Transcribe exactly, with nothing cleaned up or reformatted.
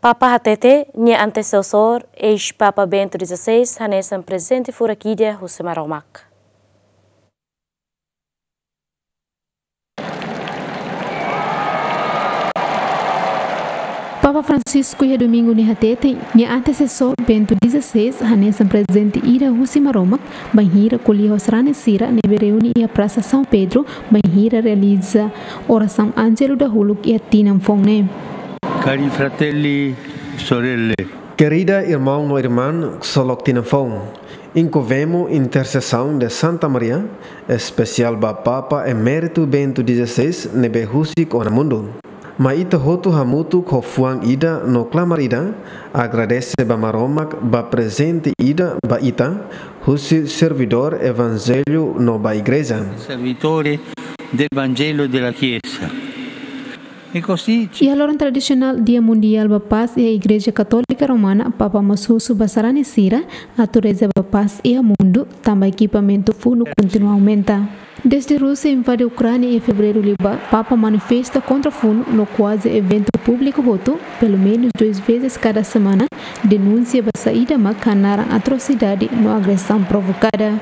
Papa hatete, nia antesesór, eis-Papa Bento dezasseis, hanesan prezente furak ida husi Maromak. Papa Francisco iha domingu ne'e hatete, nia antesesór Bento dezasseis, hanesan prezente ida husi Maromak, bainhira ko'alia ho sarani sira ne'ebé reúne iha Prasa São Pedro, bainhira realiza orasaun Ánjelu dahuluk iha tinan foun ne'e. Cari fratelli, sorelle. Kerida irmaun no irmán, ksolok tinan foun. Inkovemo intersesaun de Santa Maria, espesiál ba Papa Eméritu Bento dezasseis ne'ebé husik ona mundu. Mai ita hotu hamutuk ho fuan ida no klamar ida, agradese ba Maromak ba prezente ida ba ita, husi servidór evanjellu no ba Igreja. Servitore del Vangelo della Chiesa. E così ci- Iha loron tradisionál Dia Mundiál ba Pás iha Igreja Katólika Romana, Papa mós husu ba sarani sira atu reza ba pás iha mundu, tanba ekipamentu funu kontinua aumenta. Desde Rúsia invade Ukránia iha fevereiru liubá, Papa manifesta kontra funu no kuaze eventu públiku hotu, pelumenus dois vezes kada semana, denunsia ba saida mak hanaran atrosidade no agresaun provokada.